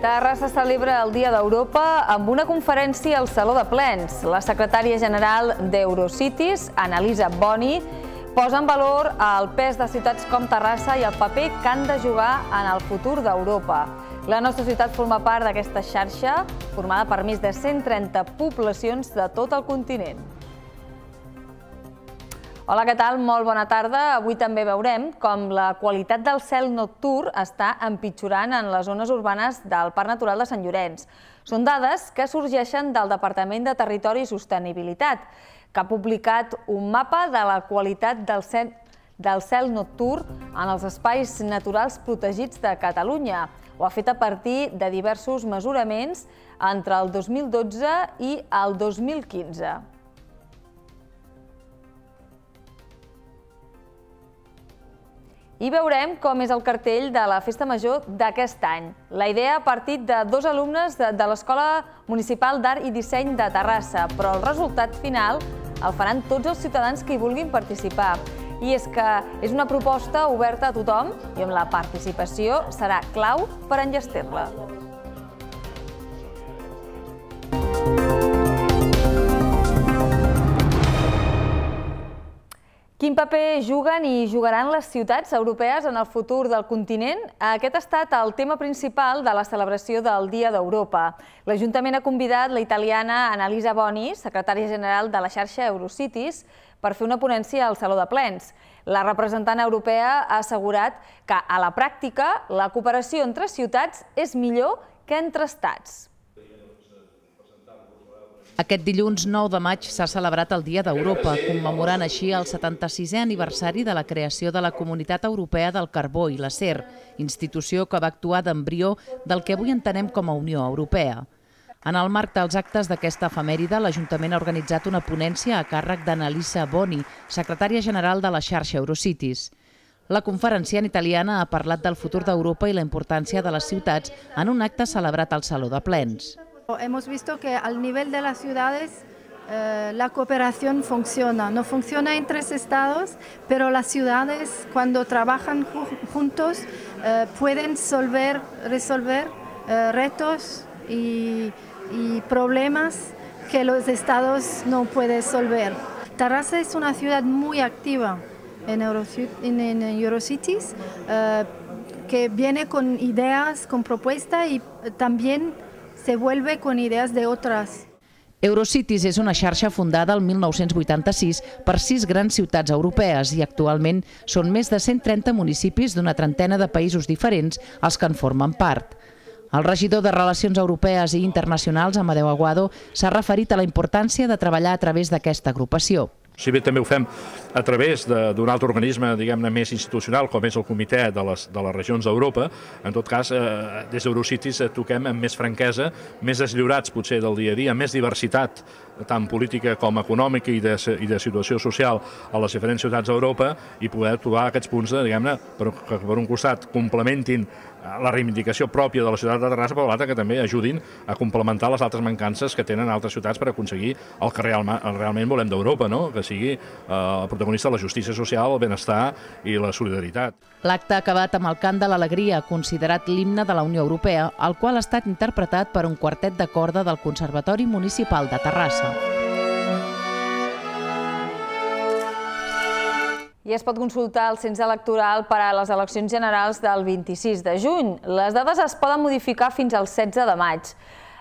Terrassa celebra el Dia d'Europa amb una conferència al Saló de Plens. La secretària general d'Eurocities, Annalisa Boni, posa en valor el pes de ciutats com Terrassa i el paper que han de jugar en el futur d'Europa. La nostra ciutat forma part d'aquesta xarxa, formada per més de 130 poblacions de tot el continent. Hola, què tal? Molt bona tarda. Avui també veurem com la qualitat del cel nocturn està empitjorant en les zones urbanes del Parc Natural de Sant Llorenç. Són dades que sorgeixen del Departament de Territori i Sostenibilitat, que ha publicat un mapa de la qualitat del cel nocturn en els espais naturals protegits de Catalunya. Ho ha fet a partir de diversos mesuraments entre el 2012 i el 2015. I veurem com és el cartell de la Festa Major d'aquest any. La idea ha partit de dos alumnes de l'Escola Municipal d'Art i Disseny de Terrassa, però el resultat final el faran tots els ciutadans que hi vulguin participar. I és que és una proposta oberta a tothom i on la participació serà clau per enllestir-la. Quin paper juguen i jugaran les ciutats europees en el futur del continent? Aquest ha estat el tema principal de la celebració del Dia d'Europa. L'Ajuntament ha convidat la italiana Annalisa Boni, secretària general de la xarxa Eurocities, per fer una ponència al Saló de Plens. La representant europea ha assegurat que, a la pràctica, la cooperació entre ciutats és millor que entre estats. Aquest dilluns 9 de maig s'ha celebrat el Dia d'Europa, commemorant així el 76è aniversari de la creació de la Comunitat Europea del Carbó i l'Acer, institució que va actuar d'embrió del que avui entenem com a Unió Europea. En el marc dels actes d'aquesta efemèride, l'Ajuntament ha organitzat una ponència a càrrec d'Annalisa Boni, secretària general de la xarxa Eurocities. La conferenciant italiana ha parlat del futur d'Europa i la importància de les ciutats en un acte celebrat al Saló de Plens. Hemos visto que al nivel de las ciudades la cooperación funciona. No funciona entre estados, pero las ciudades cuando trabajan juntos pueden resolver retos y problemas que los estados no pueden resolver. Terrassa es una ciudad muy activa en Eurocities, que viene con ideas, con propuestas y también se vuelve con ideas de otras. Eurocities és una xarxa fundada el 1986 per 6 grans ciutats europees i actualment són més de 130 municipis d'una trentena de països diferents els que en formen part. El regidor de Relacions Europees i Internacionals, Amadeu Aguado, s'ha referit a la importància de treballar a través d'aquesta agrupació. Si bé també ho fem a través d'un altre organisme, diguem-ne, més institucional, com és el Comitè de les Regions d'Europa, en tot cas, des d'Eurocities toquem amb més franquesa, més deslliurats potser del dia a dia, més diversitat, tant política com econòmica i de situació social a les diferents ciutats d'Europa i poder trobar aquests punts, diguem-ne, que per un costat complementin la reivindicació pròpia de la ciutat de Terrassa, però l'altre que també ajudin a complementar les altres mancances que tenen altres ciutats per aconseguir el que realment volem d'Europa, que sigui el protagonista de la justícia social, el benestar i la solidaritat. L'acte ha acabat amb el cant de l'alegria, considerat l'himne de la Unió Europea, el qual ha estat interpretat per un quartet de corda del Conservatori Municipal de Terrassa. I es pot consultar el cens electoral per a les eleccions generals del 26 de juny. Les dades es poden modificar fins al 16 de maig.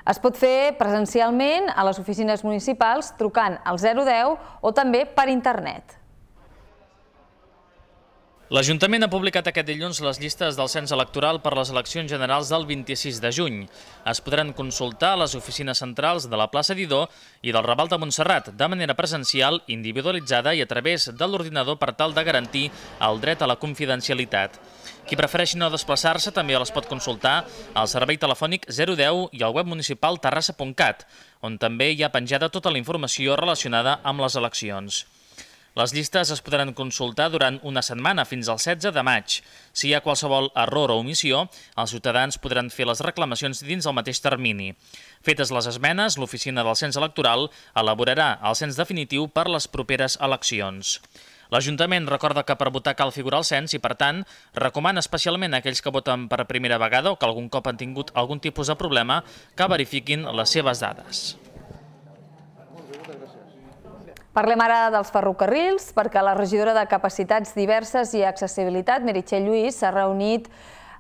Es pot fer presencialment a les oficines municipals trucant al 010 o també per internet. L'Ajuntament ha publicat aquest dilluns les llistes del cens electoral per les eleccions generals del 26 de juny. Es podran consultar a les oficines centrals de la plaça Didó i del Raval de Montserrat de manera presencial, individualitzada i a través de l'ordinador per tal de garantir el dret a la confidencialitat. Qui prefereixi no desplaçar-se també les pot consultar al servei telefònic 010 i al web municipal terrassa.cat, on també hi ha penjada tota la informació relacionada amb les eleccions. Les llistes es podran consultar durant una setmana fins al 16 de maig. Si hi ha qualsevol error o omissió, els ciutadans podran fer les reclamacions dins el mateix termini. Fetes les esmenes, l'oficina del cens electoral elaborarà el cens definitiu per les properes eleccions. L'Ajuntament recorda que per votar cal figurar al cens i, per tant, recomana especialment a aquells que voten per primera vegada o que algun cop han tingut algun tipus de problema que verifiquin les seves dades. Parlem ara dels ferrocarrils, perquè la regidora de Capacitats Diverses i Accessibilitat, Meritxell Lluís, s'ha reunit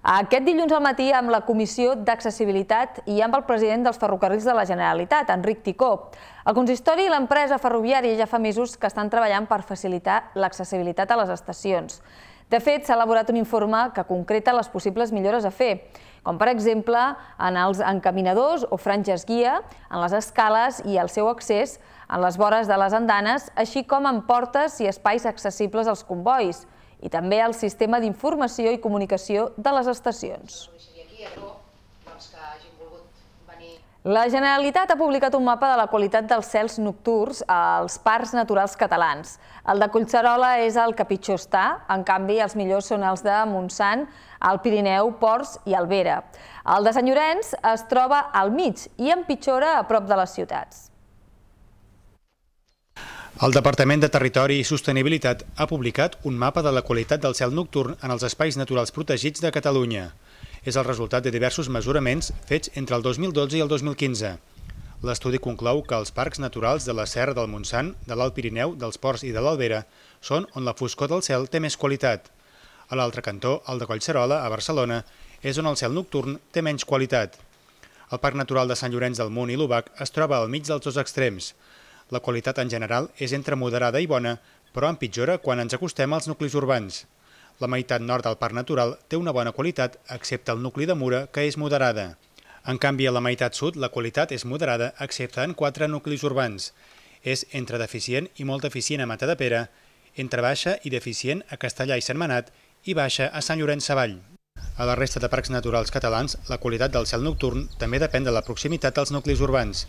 aquest dilluns al matí amb la Comissió d'Accessibilitat i amb el president dels ferrocarrils de la Generalitat, Enric Ticó. El consistori i l'empresa ferroviària ja fa mesos que estan treballant per facilitar l'accessibilitat a les estacions. De fet, s'ha elaborat un informe que concreta les possibles millores a fer, com per exemple en els encaminadors o franges guia, en les escales i el seu accés en les vores de les andanes, així com en portes i espais accessibles als combois, i també al sistema d'informació i comunicació de les estacions. La Generalitat ha publicat un mapa de la qualitat dels cels nocturns als parcs naturals catalans. El de Collserola és el que pitjor està, en canvi els millors són els de Montsant, el Pirineu, Ports i Alvera. El de Sant Llorenç es troba al mig i empitjora a prop de les ciutats. El Departament de Territori i Sostenibilitat ha publicat un mapa de la qualitat del cel nocturn en els espais naturals protegits de Catalunya. És el resultat de diversos mesuraments fets entre el 2012 i el 2015. L'estudi conclou que els parcs naturals de la Serra del Montsant, de l'Alt Pirineu, dels Ports i de l'Albera són on la foscor del cel té més qualitat. A l'altre cantó, el de Collserola, a Barcelona, és on el cel nocturn té menys qualitat. El Parc Natural de Sant Llorenç del Munt i l'Obac es troba al mig dels dos extrems. La qualitat en general és entre moderada i bona, però empitjora quan ens acostem als nuclis urbans. La meitat nord del Parc Natural té una bona qualitat, excepte el nucli de Mura, que és moderada. En canvi, a la meitat sud la qualitat és moderada, excepte en 4 nuclis urbans. És entre deficient i molt deficient a Matadepera, entre baixa i deficient a Castellà i Sentmenat i baixa a Sant Llorenç Savall. A la resta de parcs naturals catalans, la qualitat del cel nocturn també depèn de la proximitat als nuclis urbans.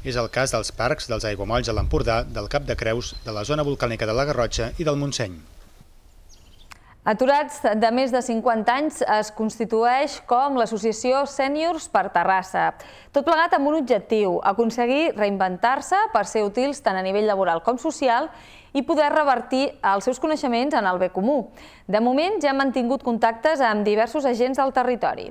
És el cas dels parcs dels aiguamolls a l'Empordà, del Cap de Creus, de la zona volcànica de la Garrotxa i del Montseny. Aturats de més de 50 anys es constitueix com l'associació Sèniors per Terrassa. Tot plegat amb un objectiu, aconseguir reinventar-se per ser útils tant a nivell laboral com social i poder revertir els seus coneixements en el bé comú. De moment ja han mantingut contactes amb diversos agents del territori.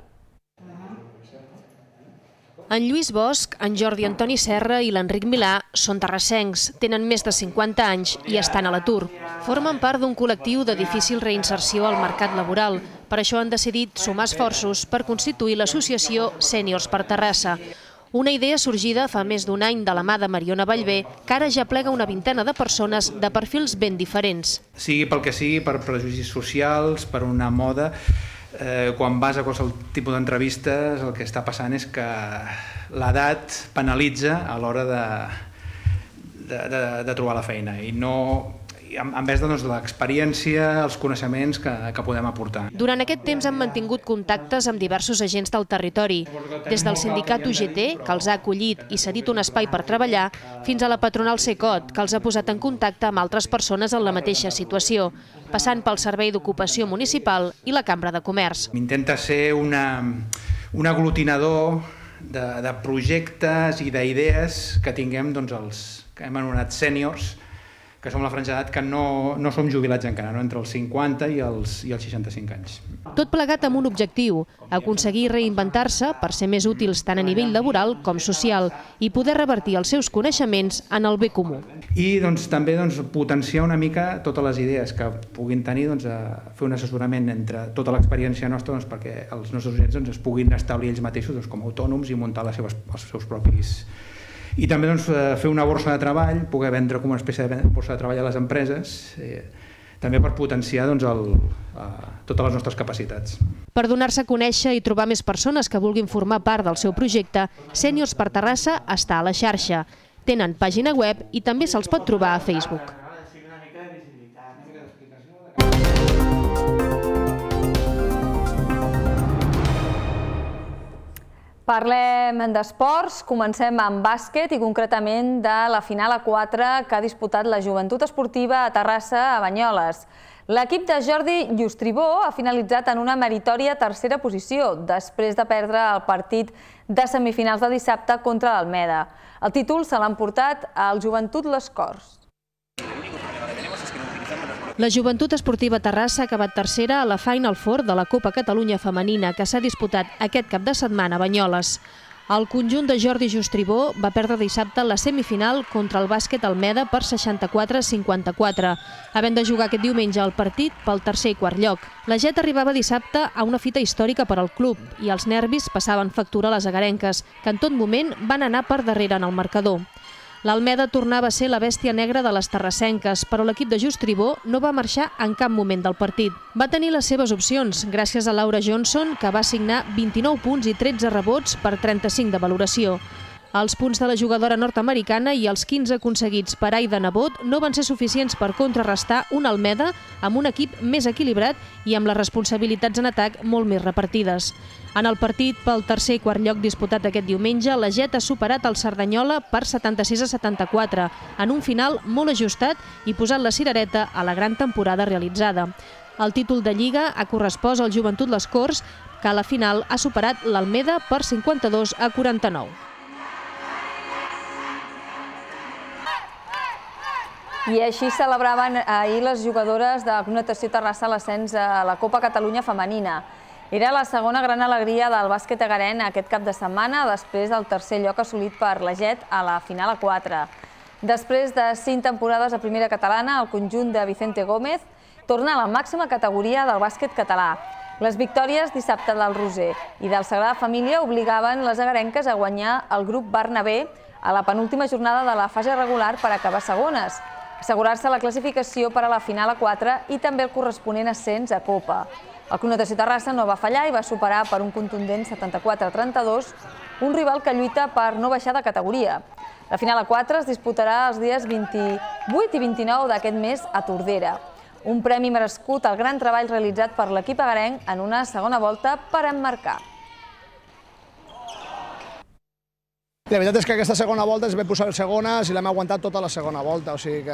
En Lluís Bosch, en Jordi Antoni Serra i l'Enric Milà són terrassencs, tenen més de 50 anys i estan a l'atur. Formen part d'un col·lectiu de difícil reinserció al mercat laboral. Per això han decidit sumar esforços per constituir l'associació Sèniors per Terrassa. Una idea sorgida fa més d'un any de la mà de Mariona Vallvé, que ara ja plega una vintena de persones de perfils ben diferents. Sigui pel que sigui, per prejudicis socials, per una moda, quan vas a qualsevol tipus d'entrevistes el que està passant és que l'edat penalitza a l'hora de trobar la feina i no en vez de l'experiència, els coneixements que podem aportar. Durant aquest temps han mantingut contactes amb diversos agents del territori, des del sindicat UGT, que els ha acollit i cedit un espai per treballar, fins a la patronal Secot, que els ha posat en contacte amb altres persones en la mateixa situació, passant pel Servei d'Ocupació Municipal i la Cambra de Comerç. Intenta ser un aglutinador de projectes i d'idees que tinguem els que hem anomenat sèniors, que som la franja d'edat que no som jubilats encara, entre els 50 i els 65 anys. Tot plegat amb un objectiu, aconseguir reinventar-se per ser més útils tant a nivell laboral com social i poder revertir els seus coneixements en el bé comú. I també potenciar una mica totes les idees que puguin tenir, fer un assessorament entre tota l'experiència nostra perquè els nostres agents es puguin establir ells mateixos com a autònoms i muntar els seus propis. I també fer una borsa de treball, poder vendre com una espècie de borsa de treball a les empreses, també per potenciar totes les nostres capacitats. Per donar-se a conèixer i trobar més persones que vulguin formar part del seu projecte, Sèniors per Terrassa està a la xarxa. Tenen pàgina web i també se'ls pot trobar a Facebook. Parlem d'esports, comencem amb bàsquet i concretament de la final A4 que ha disputat la Joventut Esportiva a Terrassa a Banyoles. L'equip de Jordi Llustribó ha finalitzat en una meritòria tercera posició després de perdre el partit de semifinals de dissabte contra l'Almeda. El títol se l'han portat al Joventut Les Corts. La Joventut Esportiva Terrassa ha acabat tercera a la Final Four de la Copa Catalunya Femenina, que s'ha disputat aquest cap de setmana a Banyoles. El conjunt de Jordi Justribó va perdre dissabte la semifinal contra el bàsquet Almeda per 64-54, havent de jugar aquest diumenge el partit pel tercer i quart lloc. La Jet arribava dissabte a una fita històrica per al club i els nervis passaven factura a les agarenques, que en tot moment van anar per darrere en el marcador. L'Almeda tornava a ser la bèstia negra de les terrassenques, però l'equip de Justribó no va marxar en cap moment del partit. Va tenir les seves opcions, gràcies a Laura Johnson, que va signar 29 punts i 13 rebots per 35 de valoració. Els punts de la jugadora nord-americana i els 15 aconseguits per Aida Nebot no van ser suficients per contrarrestar un Almeda amb un equip més equilibrat i amb les responsabilitats en atac molt més repartides. En el partit pel tercer i quart lloc disputat aquest diumenge, la Jet ha superat el Cerdanyola per 76-74, en un final molt ajustat i posat la cirereta a la gran temporada realitzada. El títol de Lliga ha correspost al Joventut Les Corts, que a la final ha superat l'Almeda per 52-49. I així celebraven ahir les jugadores de Club Natació Terrassa l'ascens a la Copa Catalunya Femenina. Era la segona gran alegria del bàsquet egarenc aquest cap de setmana, després del tercer lloc assolit per la Jet a la final a 4. Després de 5 temporades a primera catalana, el conjunt de Vicente Gómez torna a la màxima categoria del bàsquet català. Les victòries dissabte del Roser i del Sagrada Família obligaven les agarenques a guanyar el grup Bernabé a la penúltima jornada de la fase regular per acabar segones, assegurar-se la classificació per a la final a 4 i també el corresponent ascens a Copa. El Club Natació Terrassa no va fallar i va superar per un contundent 74-32 un rival que lluita per no baixar de categoria. La final a 4 es disputarà els dies 28 i 29 d'aquest mes a Tordera. Un premi merescut al gran treball realitzat per l'equip agarenc en una segona volta per emmarcar. La veritat és que aquesta segona volta es ve posar segones i l'hem aguantat tota la segona volta, o sigui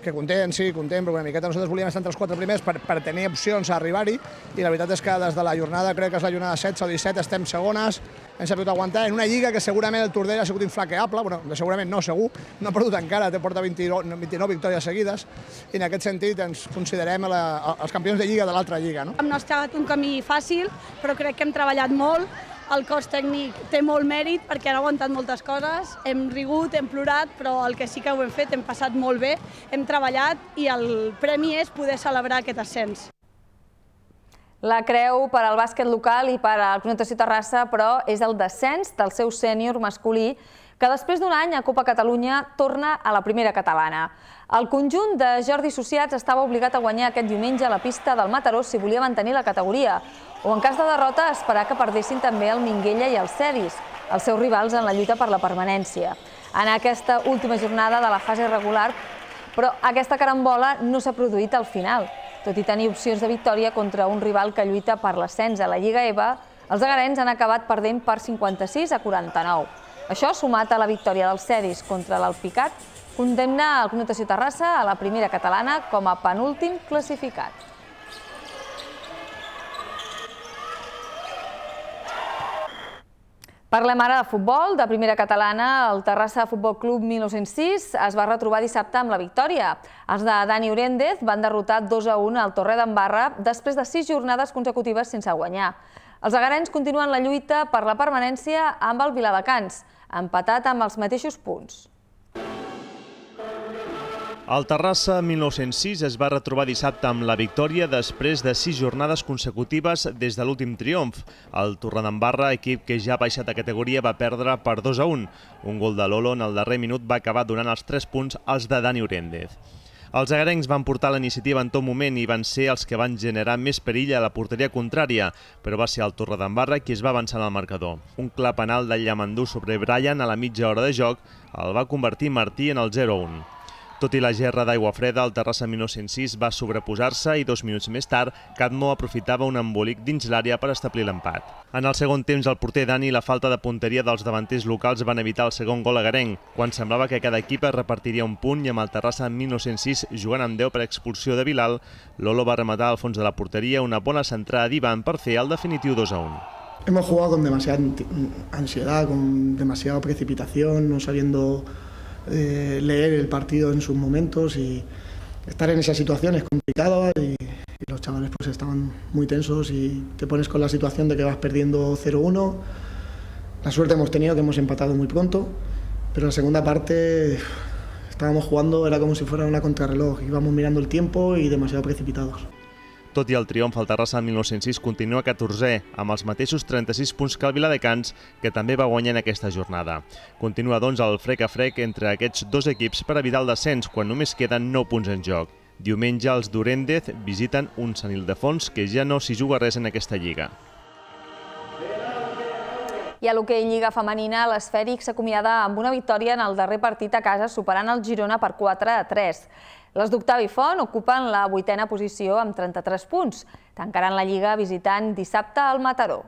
que content, sí, content, però una miqueta nosaltres volíem estar entre els 4 primers per tenir opcions a arribar-hi i la veritat és que des de la jornada, crec que és la jornada 16 o 17, estem segones, hem sabut aguantar en una lliga que segurament el Tordera ha sigut inflaqueable, bueno, segurament no, segur, no ha perdut encara, porta 29 victòries seguides i en aquest sentit ens considerem els campions de lliga de l'altra lliga. No ha estat un camí fàcil, però crec que hem treballat molt. El cos tècnic té molt mèrit perquè han aguantat moltes coses, hem rigut, hem plorat, però el que sí que ho hem fet, hem passat molt bé, hem treballat i el premi és poder celebrar aquest ascens. La creu per al bàsquet local i per al Club Natació Terrassa, però, és el descens del seu sènior masculí, que després d'un any a Copa Catalunya torna a la primera catalana. El conjunt de Jordi Associats estava obligat a guanyar aquest diumenge a la pista del Mataró si volia mantenir la categoria, o en cas de derrota esperar que perdessin també el Minguella i el Cedis, els seus rivals en la lluita per la permanència. En aquesta última jornada de la fase regular, però aquesta carambola no s'ha produït al final. Tot i tenir opcions de victòria contra un rival que lluita per l'ascens a la Lliga EVA, els agarencs han acabat perdent per 56-49. Això, sumat a la victòria dels Cedis contra l'Alpicat, condemna el Club Natació Terrassa a la primera catalana com a penúltim classificat. Parlem ara de futbol. De primera catalana, el Terrassa Futbol Club 1906 es va retrobar dissabte amb la victòria. Els de Dani Oréndez van derrotar 2-1 al Torredembarra després de 6 jornades consecutives sense guanyar. Els agarencs continuen la lluita per la permanència amb el Viladecans, empatat amb els mateixos punts. El Terrassa 1906 es va retrobar dissabte amb la victòria després de 6 jornades consecutives des de l'últim triomf. El Torredembarra, equip que ja ha baixat de categoria, va perdre per 2-1. Un gol de Lolo en el darrer minut va acabar donant els 3 punts als de Dani Oréndez. Els agarencs van portar la iniciativa en tot moment i van ser els que van generar més perill a la porteria contrària, però va ser el Torredembarra qui es va avançar en el marcador. Un clar penal de Llamandú sobre Brian a la mitja hora de joc el va convertir Martí en el 0-1. Tot i la gerra d'aigua freda, el Terrassa 1906 va sobreposar-se i 2 minuts més tard, Cadmo aprofitava un embolic dins l'àrea per establir l'empat. En el segon temps, el porter Dani i la falta de punteria dels davanters locals van evitar el segon gol agarenc, quan semblava que cada equip es repartiria un punt i amb el Terrassa 1906 jugant amb 10 per expulsió de Bilal, Lolo va rematar al fons de la porteria una bona centrada d'Ivan per fer el definitiu 2-1. Hemos jugado con demasiada ansiedad, con demasiada precipitación, no sabiendo leer el partido en sus momentos y estar en esa situación es complicado y los chavales pues estaban muy tensos y te pones con la situación de que vas perdiendo 0-1. La suerte hemos tenido que hemos empatado muy pronto, pero en la segunda parte estábamos jugando, era como si fuera una contrarreloj, íbamos mirando el tiempo y demasiado precipitados. Tot i el triomf, el Terrassa en 1906 continua 14è, amb els mateixos 36 punts que el Viladecans, que també va guanyar en aquesta jornada. Continua, doncs, el frec a frec entre aquests dos equips per evitar el descens, quan només queden 9 punts en joc. Diumenge, els d'Urendez visiten un Sant Ildefons que ja no s'hi juga res en aquesta lliga. I a l'hoquei Lliga Femenina, l'Esfèric s'acomiada amb una victòria en el darrer partit a casa, superant el Girona per 4-3. Les d'Octavi Font ocupen la 8a posició amb 33 punts. Tancaran la Lliga visitant dissabte al Mataró.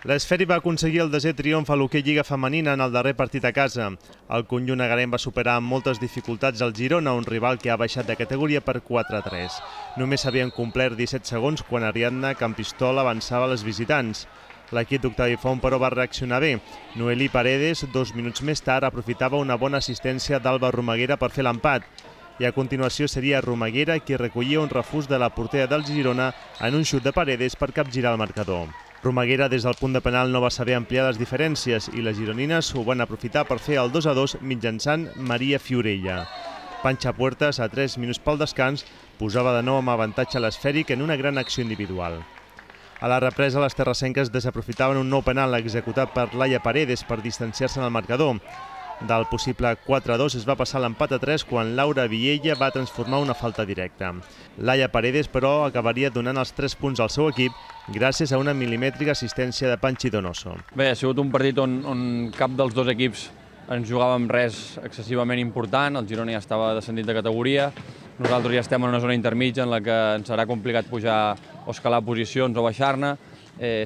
L'Esfèric va aconseguir el 10è triomf a l'hoquei Lliga Femenina en el darrer partit a casa. El conjunt agarenc va superar amb moltes dificultats el Girona, un rival que ha baixat de categoria per 4-3. Només s'havien complert 17 segons quan Ariadna Campistol avançava a les visitants. L'equip d'Octavi Font, però, va reaccionar bé. Noelí Paredes, 2 minuts més tard, aprofitava una bona assistència d'Alba Romaguera per fer l'empat. I a continuació seria Romaguera qui recollia un refús de la portera del Girona en un xut de Paredes per capgirar el marcador. Romaguera, des del punt de penal, no va saber ampliar les diferències i les gironines ho van aprofitar per fer el 2-2 mitjançant Maria Fiorella. Panxa Puertas, a 3 minuts pel descans, posava de nou amb avantatge a l'Esfèric en una gran acció individual. A la represa, les terrassenques desaprofitaven un nou penal executat per Laia Paredes per distanciar-se en el marcador. Del possible 4-2 es va passar l'empat a 3 quan Laura Viella va transformar una falta directa. Laia Paredes, però, acabaria donant els 3 punts al seu equip gràcies a una milimètrica assistència de Panchi Donoso. Bé, ha sigut un partit on cap dels dos equips ens jugàvem res excessivament important. El Girona ja estava descendit de categoria. Nosaltres ja estem en una zona intermitja en la que ens serà complicat pujar o escalar posicions o baixar-ne.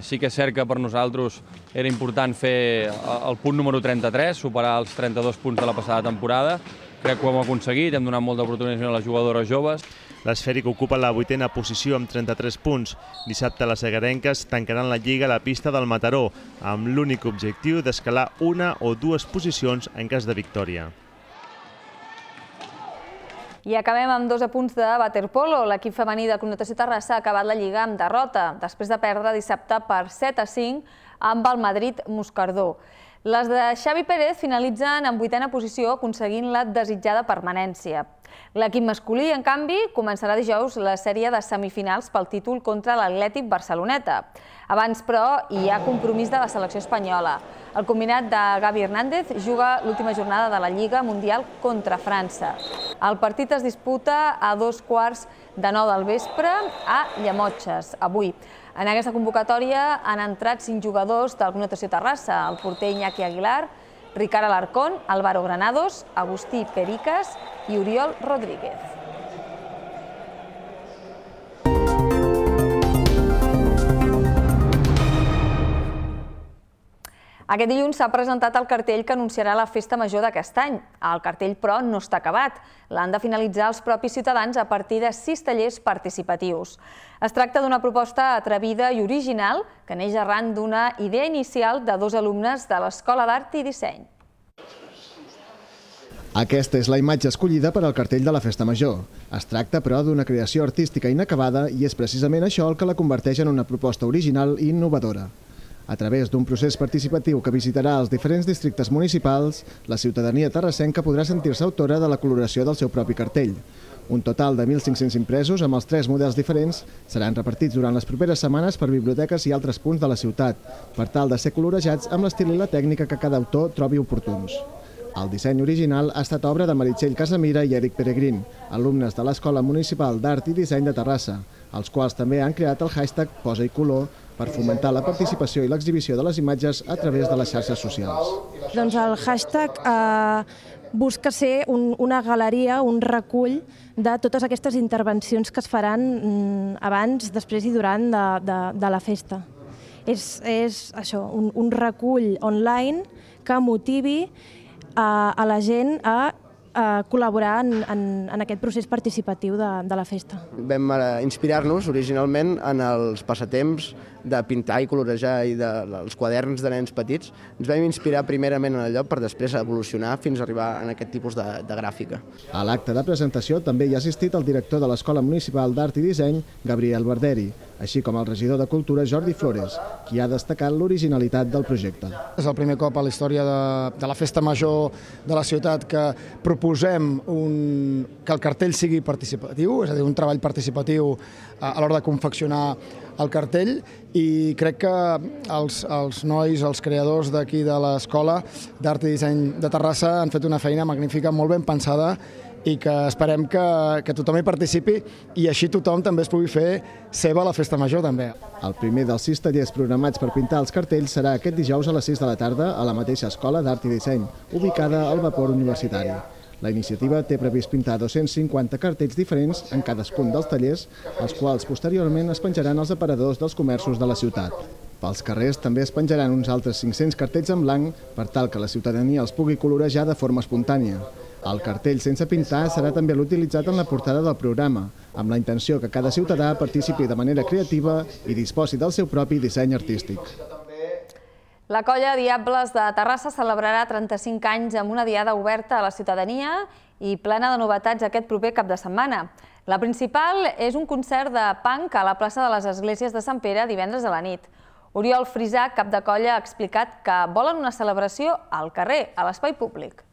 Sí que és cert que per nosaltres era important fer el punt número 33, superar els 32 punts de la passada temporada. Crec que ho hem aconseguit, hem donat molta oportunitat a les jugadores joves. L'Esfèric ocupa la 8a posició amb 33 punts. Dissabte les agarenques tancaran la Lliga a la pista del Mataró, amb l'únic objectiu d'escalar una o dues posicions en cas de victòria. I acabem amb 2 apunts de waterpolo. L'equip femení de Connotació Terrassa ha acabat la Lliga amb derrota, després de perdre dissabte per 7-5 amb el Madrid Moscardó. Les de Xavi Pérez finalitzen en 8a posició, aconseguint la desitjada permanència. L'equip masculí, en canvi, començarà dijous la sèrie de semifinals pel títol contra l'Atlètic Barceloneta. Abans, però, hi ha compromís de la selecció espanyola. El combinat de Gavi Hernández juga l'última jornada de la Lliga Mundial contra França. El partit es disputa a 15:15 del vespre a Llemotges, avui. En aquesta convocatòria han entrat 5 jugadors del Connotació Terrassa, el porter Iñaki Aguilar, Ricard Alarcón, Álvaro Granados, Agustí Pericas i Oriol Rodríguez. Aquest dilluns s'ha presentat el cartell que anunciarà la festa major d'aquest any. El cartell, però, no està acabat. L'han de finalitzar els propis ciutadans a partir de 6 tallers participatius. Es tracta d'una proposta atrevida i original que neix arran d'una idea inicial de 2 alumnes de l'Escola d'Art i Disseny. Aquesta és la imatge escollida per al cartell de la Festa Major. Es tracta, però, d'una creació artística inacabada i és precisament això el que la converteix en una proposta original i innovadora. A través d'un procés participatiu que visitarà els diferents districtes municipals, la ciutadania terrassenca podrà sentir-se autora de la coloració del seu propi cartell. Un total de 1.500 impresos amb els 3 models diferents seran repartits durant les properes setmanes per biblioteques i altres punts de la ciutat, per tal de ser colorejats amb l'estil i la tècnica que cada autor trobi oportuns. El disseny original ha estat obra de Meritxell Casamira i Eric Peregrín, alumnes de l'Escola Municipal d'Art i Disseny de Terrassa, els quals també han creat el hashtag Posa i Color per fomentar la participació i l'exhibició de les imatges a través de les xarxes socials. Doncs el hashtag busca ser una galeria, un recull de totes aquestes intervencions que es faran abans, després i durant de la festa. És això, un recull online que motivi a la gent a col·laborar en aquest procés participatiu de la festa. Vam inspirar-nos originalment en els passatemps de pintar i colorejar i dels quaderns de nens petits. Ens vam inspirar primerament en allò per després evolucionar fins a arribar a aquest tipus de gràfica. A l'acte de presentació també hi ha assistit el director de l'Escola Municipal d'Art i Disseny, Gabriel Barderi, així com el regidor de Cultura, Jordi Flores, qui ha destacat l'originalitat del projecte. És el primer cop a la història de la Festa Major de la ciutat que proposem que el cartell sigui participatiu, és a dir, un treball participatiu a l'hora de confeccionar el cartell, i crec que els nois, els creadors d'aquí de l'Escola d'Art i Disseny de Terrassa han fet una feina magnífica, molt ben pensada, i que esperem que tothom hi participi i així tothom també es pugui fer seva la Festa Major també. El primer dels 6 tallers programats per pintar els cartells serà aquest dijous a les 6 de la tarda a la mateixa Escola d'Art i Disseny, ubicada al Vapor Universitari. La iniciativa té previst pintar 250 cartells diferents en cadascun dels tallers, els quals posteriorment es penjaran als aparadors dels comerços de la ciutat. Pels carrers també es penjaran uns altres 500 cartells en blanc per tal que la ciutadania els pugui colorejar de forma espontània. El cartell sense pintar serà també l'utilitzat en la portada del programa, amb la intenció que cada ciutadà participi de manera creativa i disposi del seu propi disseny artístic. La colla Diables de Terrassa celebrarà 35 anys amb una diada oberta a la ciutadania i plena de novetats aquest proper cap de setmana. La principal és un concert de punk a la plaça de les Esglésies de Sant Pere divendres a la nit. Oriol Frisà, cap de colla, ha explicat que volen una celebració al carrer, a l'espai públic.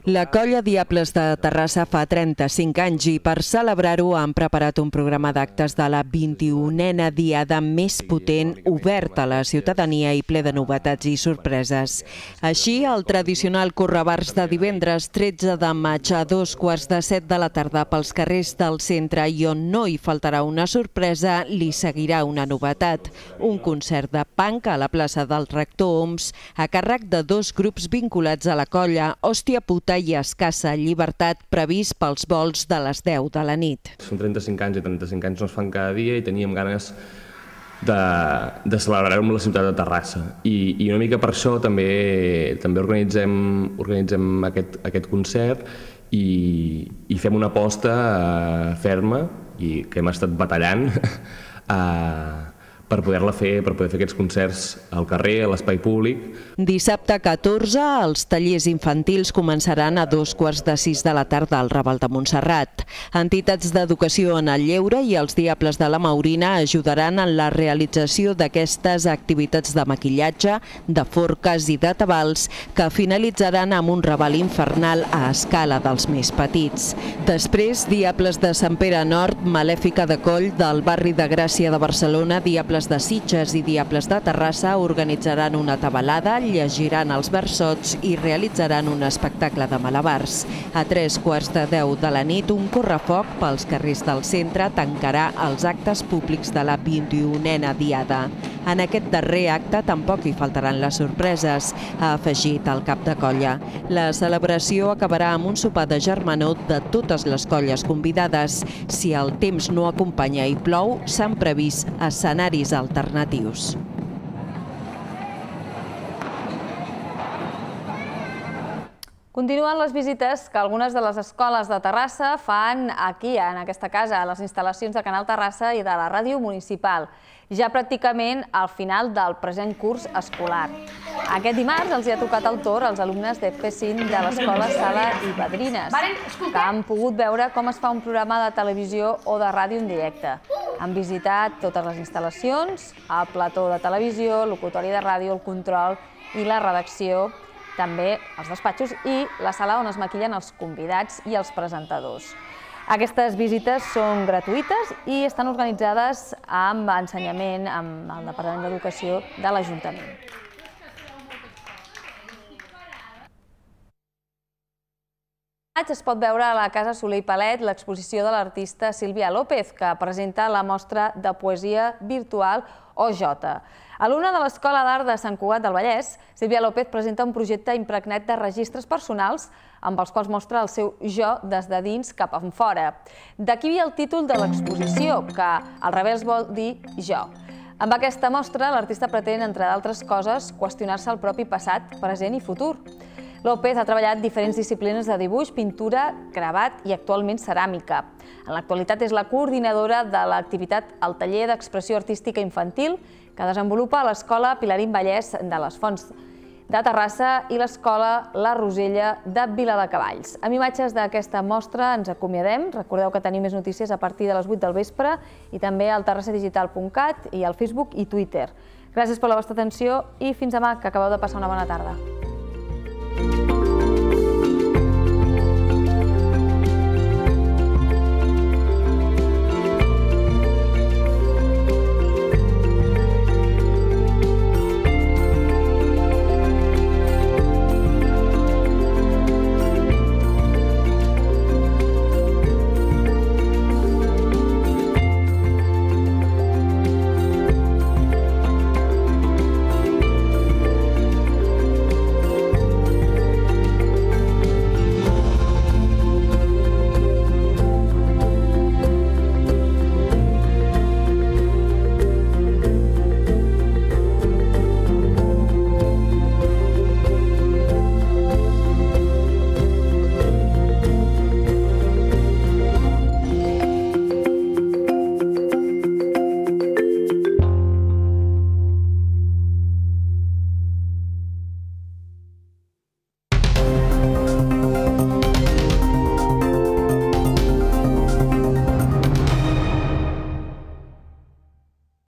La colla Diables de Terrassa fa 35 anys i per celebrar-ho han preparat un programa d'actes de la 21a diada més potent, oberta a la ciutadania i ple de novetats i sorpreses. Així, el tradicional correbars de divendres 13 de maig a 2:15 de la tarda pels carrers del centre i on no hi faltarà una sorpresa, li seguirà una novetat. Un concert de punk a la plaça del Rector Oms a càrrec de 2 grups vinculats a la colla, Hòstia Puta i Escassa Llibertat, previst pels vols de les 10 de la nit. Són 35 anys i 35 anys no es fan cada dia i teníem ganes de celebrar-ho amb la ciutat de Terrassa. I una mica per això també organitzem aquest concert i fem una aposta ferma i que hem estat batallant per poder fer aquests concerts al carrer, a l'espai públic. Dissabte 14, els tallers infantils començaran a 5:15 de la tarda al Raval de Montserrat. Entitats d'educació en el lleure i els Diables de la Maurina ajudaran en la realització d'aquestes activitats de maquillatge, de forques i de tabals que finalitzaran amb un Raval infernal a escala dels més petits. Després, Diables de Sant Pere Nord, Malèfica de Coll, del barri de Gràcia de Barcelona, Diables de Sitges i Diables de Terrassa organitzaran una tabalada, llegiran els versots i realitzaran un espectacle de malabars. A 9:45 de la nit, un correfoc pels carrers del centre tancarà els actes públics de la 21a diada. En aquest darrer acte tampoc hi faltaran les sorpreses, ha afegit el cap de colla. La celebració acabarà amb un sopar de germanor de totes les colles convidades. Si el temps no acompanya i plou, s'han previst escenaris alternatius. Continuen les visites que algunes de les escoles de Terrassa fan aquí, en aquesta casa, a les instal·lacions de Canal Terrassa i de la ràdio municipal, ja pràcticament al final del present curs escolar. Aquest dimarts els hi ha tocat el torn als alumnes de P5 de l'escola Sala i Padrines, que han pogut veure com es fa un programa de televisió o de ràdio en directe. Han visitat totes les instal·lacions, el plató de televisió, el locutori de ràdio, el control i la redacció, també els despatxos i la sala on es maquillen els convidats i els presentadors. Aquestes visites són gratuïtes i estan organitzades amb ensenyament amb el Departament d'Educació de l'Ajuntament. Es pot veure a la Casa Soler i Palet l'exposició de l'artista Sílvia López, que presenta la mostra de poesia virtual OJ. Alumna de l'Escola d'Art de Sant Cugat del Vallès, Sílvia López presenta un projecte impregnat de registres personals amb els quals mostra el seu jo des de dins cap enfora. D'aquí el títol de l'exposició, que al revés vol dir jo. Amb aquesta mostra, l'artista pretén, entre d'altres coses, qüestionar-se el propi passat, present i futur. López ha treballat diferents disciplines de dibuix, pintura, gravat i actualment ceràmica. En l'actualitat és la coordinadora de l'activitat al taller d'expressió artística infantil que desenvolupa a l'Escola Pilarín Vallès de les Fonts de Terrassa i l'Escola La Rosella de Viladecavalls. Amb imatges d'aquesta mostra ens acomiadem. Recordeu que tenim més notícies a partir de les 8 del vespre i també al terrassadigital.cat i al Facebook i Twitter. Gràcies per la vostra atenció i fins demà, que acabeu de passar una bona tarda.